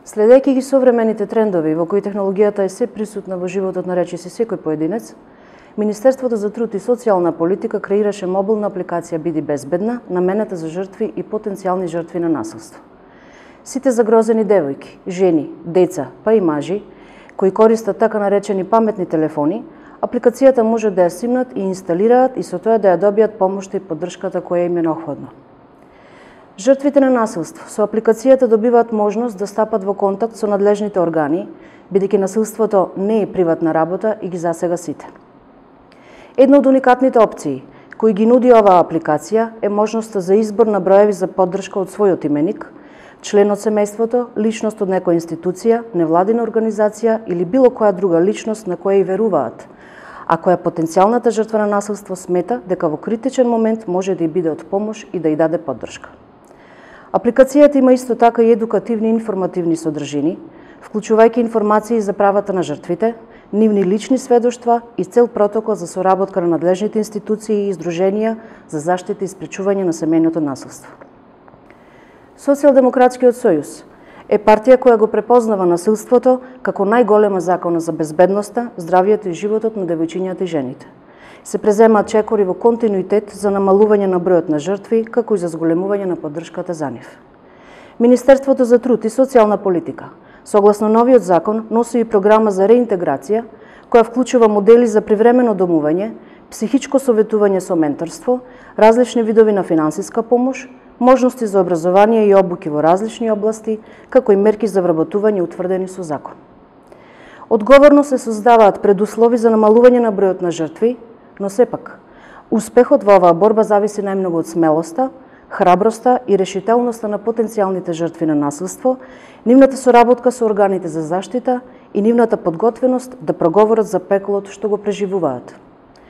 Следејќи ги современите трендови во кои технологијата е се присутна во животот на речиси секој поединец, Министерството за труд и социјална политика креираше мобилна апликација Биди безбедна, наменета за жртви и потенцијални жртви на насилство. Сите загрозени девојки, жени, деца, па и мажи, кои користат така наречени паметни телефони, апликацијата може да ја симнат и инсталираат и со тоа да ја добијат помошта и поддршката која им е необходна. Жртвите на насилство со апликацијата добиваат можност да стапат во контакт со надлежните органи, бидејќи насилството не е приватна работа и ги засега сите. Една од уникатните опции кои ги нуди оваа апликација е можноста за избор на броеви за поддршка од својот именик, член од семејството, личност од некоја институција, невладина организација или било која друга личност на која и веруваат, а која потенцијалната жртва на насилство смета дека во критичен момент може да и биде од помош и да и даде поддршка. Апликацијата има исто така и едукативни и информативни содржини, вклучувајќи информации за правата на жртвите, нивни лични сведоштва и цел протокол за соработка на надлежните институции и издруженија за заштита и спречување на семејното насилство. Социјалдемократскиот сојуз е партија која го препознава насилството како најголема закона за безбедноста, здравието и животот на девојчињата и жените. Се преземаат чекори во континуитет за намалување на бројот на жртви, како и за зголемување на поддршката за нив. Министерството за труд и социјална политика, согласно новиот закон, носи и програма за реинтеграција, која вклучува модели за привремено домување, психичко советување со менторство, различни видови на финансиска помош, можности за образование и обуки во различни области, како и мерки за вработување утврдени со закон. Одговорно се создаваат предуслови за намалување на бројот на жртви, но сепак, успехот во оваа борба зависи најмногу од смелоста, храброста и решителноста на потенцијалните жртви на насилство, нивната соработка со органите за заштита и нивната подготвеност да проговорат за пеклот што го преживуваат.